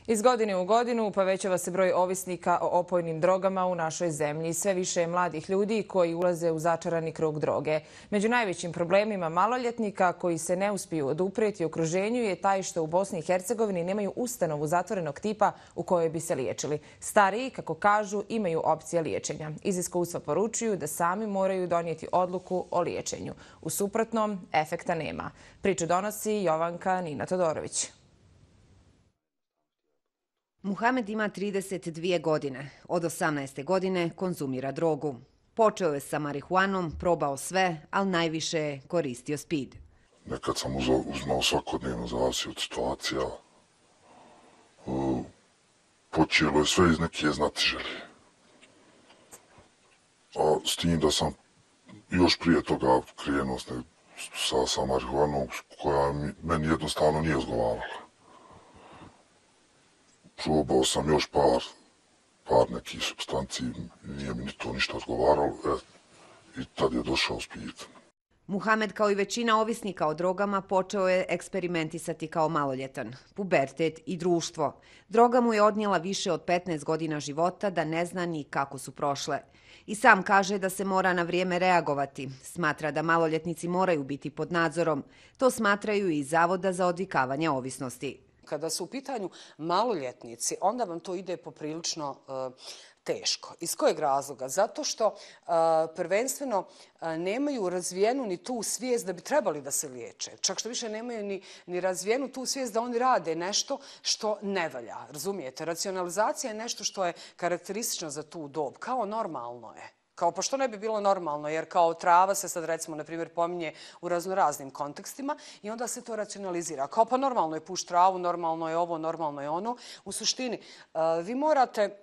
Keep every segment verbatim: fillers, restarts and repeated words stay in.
Iz godine u godinu povećava se broj ovisnika o opojnim drogama u našoj zemlji. Sve više je mladih ljudi koji ulaze u začarani krug droge. Među najvećim problemima maloljetnika koji se ne uspiju oduprijeti okruženju je taj što u Bosni i Hercegovini nemaju ustanovu zatvorenog tipa u kojoj bi se liječili. Stariji, kako kažu, imaju opcije liječenja. Iz iskustva poručuju da sami moraju donijeti odluku o liječenju. U suprotnom, efekta nema. Priču donosi Jovanka Nina Todorović. Muhamed ima trideset dvije godine. Od osamnaeste godine konzumira drogu. Počeo je sa marihuanom, probao sve, ali najviše je koristio speed. Nekad sam uzmao svakodnevno, zavisi od situacija. Počelo je sve iz neke znatiželje. A s tim da sam još prije toga krenuo sa, sa marihuanom koja meni jednostavno nije odgovarala. Probao sam još par, par nekih supstanci, nije mi ni to ništa odgovaralo, e, i tad je došao speed. Muhamed, kao i većina ovisnika o drogama, počeo je eksperimentisati kao maloljetan. Pubertet i društvo. Droga mu je odnijela više od petnaest godina života, da ne zna ni kako su prošle. I sam kaže da se mora na vrijeme reagovati. Smatra da maloljetnici moraju biti pod nadzorom. To smatraju i Zavoda za odvikavanje ovisnosti. Kada su u pitanju maloljetnici, onda vam to ide poprilično uh, teško. Iz kojeg razloga? Zato što uh, prvenstveno uh, nemaju razvijenu ni tu svijest da bi trebali da se liječe. Čak što više nemaju ni, ni razvijenu tu svijest da oni rade nešto što ne valja. Razumijete? Racionalizacija je nešto što je karakteristično za tu dob. Kao normalno je. Kao pa što ne bi bilo normalno, jer kao trava se sad recimo, na primjer, pominje u raznoraznim kontekstima i onda se to racionalizira. Kao pa normalno je puš travu, normalno je ovo, normalno je ono. U suštini, vi morate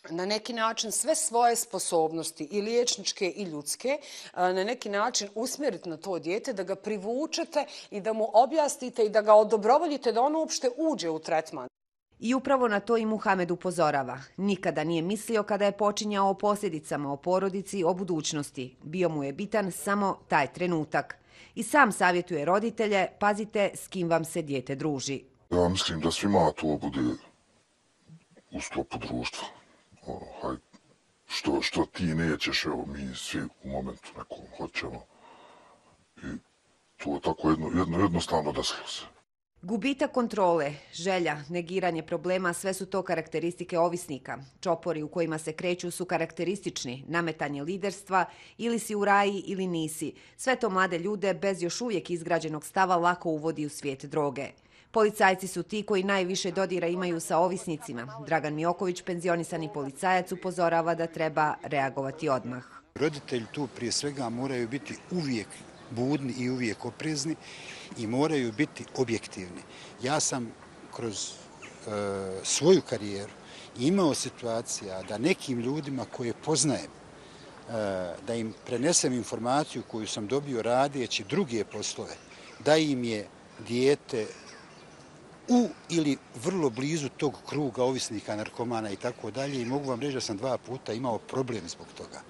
na neki način sve svoje sposobnosti, i liječničke i ljudske, na neki način usmjeriti na to dijete, da ga privučete i da mu objasnite i da ga odobrovoljite da ono uopšte uđe u tretman. I upravo na to i Muhamed upozorava. Nikada nije mislio kada je počinjao o posljedicama, o porodici, o budućnosti. Bio mu je bitan samo taj trenutak. I sam savjetuje roditelje, pazite s kim vam se dijete druži. Ja mislim da svima to bude u sklopu društva. O, haj, što, što ti nećeš, evo mi svi u momentu nekom hoćemo. I to je tako jedno, jedno, jednostavno desilo se. Gubitak kontrole, želja, negiranje problema, sve su to karakteristike ovisnika. Čopori u kojima se kreću su karakteristični, nametanje liderstva, ili si u raji ili nisi. Sve to mlade ljude bez još uvijek izgrađenog stava lako uvodi u svijet droge. Policajci su ti koji najviše dodira imaju sa ovisnicima. Dragan Mioković, penzionisani policajac, upozorava da treba reagovati odmah. Roditelji tu prije svega moraju biti uvijek budni i uvijek oprezni i moraju biti objektivni. Ja sam kroz e, svoju karijeru imao situacija da nekim ljudima koje poznajem, e, da im prenesem informaciju koju sam dobio radeći druge poslove, da im je dijete u ili vrlo blizu tog kruga ovisnika, narkomana i tako dalje, i mogu vam reći da sam dva puta imao problem zbog toga.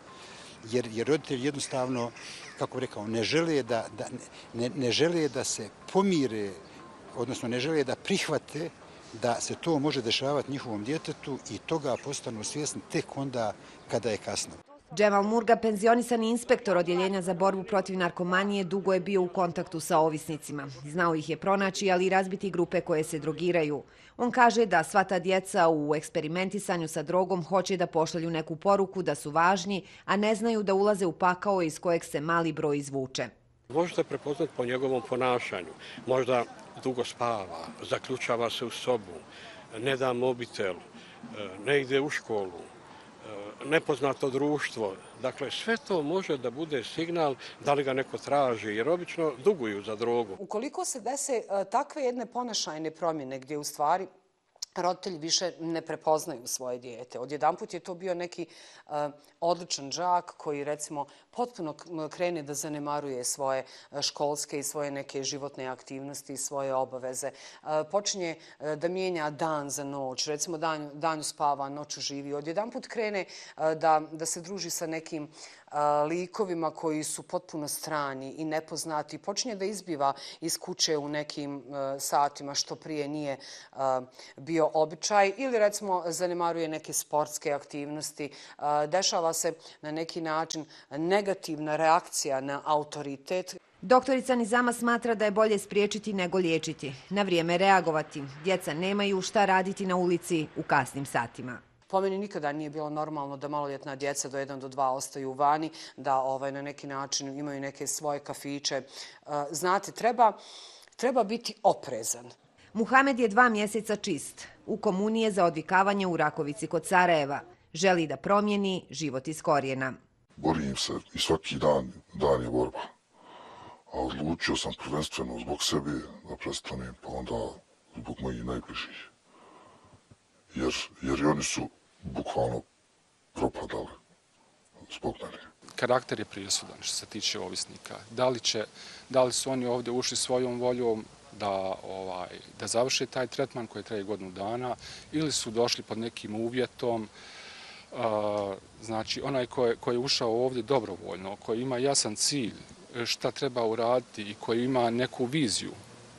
Jer, jer roditelji jednostavno, kako rekao, ne žele da, da, ne, ne žele da se pomire, odnosno ne žele da prihvate da se to može dešavati njihovom djetetu i toga postanu svjesni tek onda kada je kasno. Džemal Murga, penzionisani inspektor odjeljenja za borbu protiv narkomanije, dugo je bio u kontaktu sa ovisnicima. Znao ih je pronaći, ali i razbiti grupe koje se drogiraju. On kaže da sva ta djeca u eksperimentisanju sa drogom hoće da pošalju neku poruku da su važni, a ne znaju da ulaze u pakao iz kojeg se mali broj izvuče. Možete prepoznati po njegovom ponašanju. Možda dugo spava, zaključava se u sobu, ne da mobitel, ne ide u školu, nepoznato društvo. Dakle, sve to može da bude signal da li ga neko traži, jer obično duguju za drogu. Ukoliko se dese takve jedne ponašajne promjene gdje u stvari roditelji više ne prepoznaju svoje dijete. Odjedanput je to bio neki uh, odličan đak koji recimo potpuno krene da zanemaruje svoje školske i svoje neke životne aktivnosti i svoje obaveze. Uh, počinje uh, da mijenja dan za noć, recimo dan, danju spava, noću živi. Odjedanput krene uh, da, da se druži sa nekim uh, likovima koji su potpuno strani i nepoznati. Počinje da izbiva iz kuće u nekim uh, satima što prije nije uh, bio bio običaj ili recimo zanemaruje neke sportske aktivnosti. Dešava se na neki način negativna reakcija na autoritet. Doktorica Nizama smatra da je bolje spriječiti nego liječiti, na vrijeme reagovati. Djeca nemaju šta raditi na ulici u kasnim satima. Po meni nikada nije bilo normalno da maloljetna djeca do jedan do dva ostaju vani, da ovaj, na neki način imaju neke svoje kafiće. Znate, treba, treba biti oprezan. Muhamed je dva mjeseca čist. U komuniji je za odvikavanje u Rakovici kod Sarajeva. Želi da promijeni život iz korijena. Borim se i svaki dan, dan je borba. A odlučio sam prvenstveno zbog sebe da prestanem, pa onda zbog mojih najbližih. Jer, jer i oni su bukvalno propadali zbog mene. Karakter je prijesudan što se tiče ovisnika. Da li, će, da li su oni ovdje ušli svojom voljom da, ovaj, da završe taj tretman koji traje godinu dana ili su došli pod nekim uvjetom. Uh, znači, onaj ko je, ko je ušao ovdje dobrovoljno, koji ima jasan cilj šta treba uraditi i koji ima neku viziju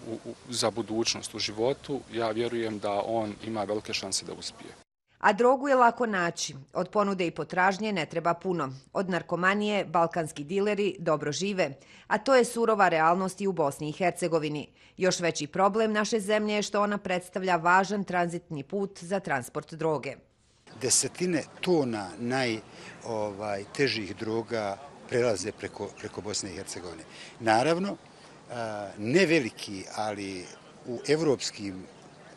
u, u, za budućnost u životu, ja vjerujem da on ima velike šanse da uspije. A drogu je lako naći. Od ponude i potražnje ne treba puno. Od narkomanije balkanski dileri dobro žive, a to je surova realnost i u Bosni i Hercegovini. Još veći problem naše zemlje je što ona predstavlja važan tranzitni put za transport droge. Desetine tona najtežih droga prelaze preko, preko Bosne i Hercegovine. Naravno, ne veliki, ali u evropskim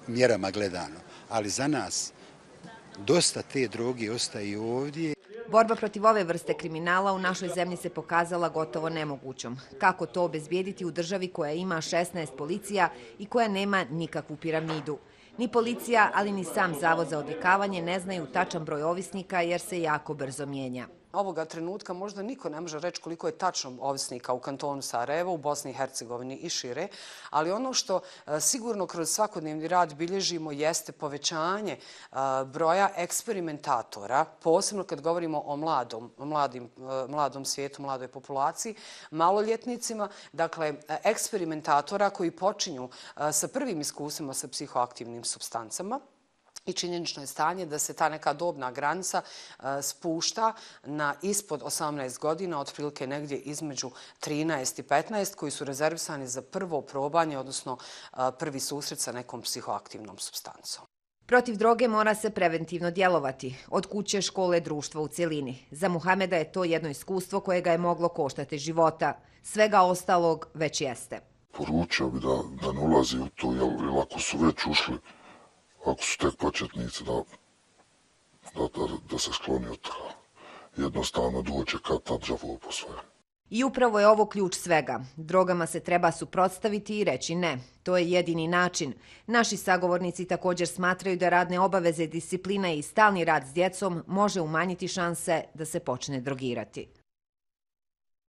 mjerama gledano, ali za nas dosta te droge ostaje ovdje. Borba protiv ove vrste kriminala u našoj zemlji se pokazala gotovo nemogućom. Kako to obezbijediti u državi koja ima šesnaest policija i koja nema nikakvu piramidu? Ni policija, ali ni sam Zavod za odvikavanje ne znaju tačan broj ovisnika jer se jako brzo mijenja. Ovoga trenutka možda niko ne može reći koliko je tačno ovisnika u kantonu Sarajevo, u Bosni i Hercegovini i šire, ali ono što sigurno kroz svakodnevni rad bilježimo jeste povećanje broja eksperimentatora, posebno kad govorimo o mladom, mladim, mladom svijetu, mladoj populaciji, maloljetnicima, dakle eksperimentatora koji počinju sa prvim iskustvima sa psihoaktivnim supstancama. I činjenično je stanje da se ta neka dobna granica spušta na ispod osamnaest godina, otprilike negdje između trinaest i petnaest, koji su rezervisani za prvo probanje, odnosno prvi susret sa nekom psihoaktivnom supstancom. Protiv droge mora se preventivno djelovati, od kuće, škole, društva u cjelini. Za Muhameda je to jedno iskustvo koje ga je moglo koštati života. Svega ostalog već jeste. Poručio bi da, da ne ulazi u to, jer, jer ako su već ušli, ako su tek početnici, da, da, da, da se skloni od toga. Jednostavno doće kad ta đavo po svoje. I upravo je ovo ključ svega. Drogama se treba suprotstaviti i reći ne. To je jedini način. Naši sagovornici također smatraju da radne obaveze, disciplina i stalni rad s djecom može umanjiti šanse da se počne drogirati.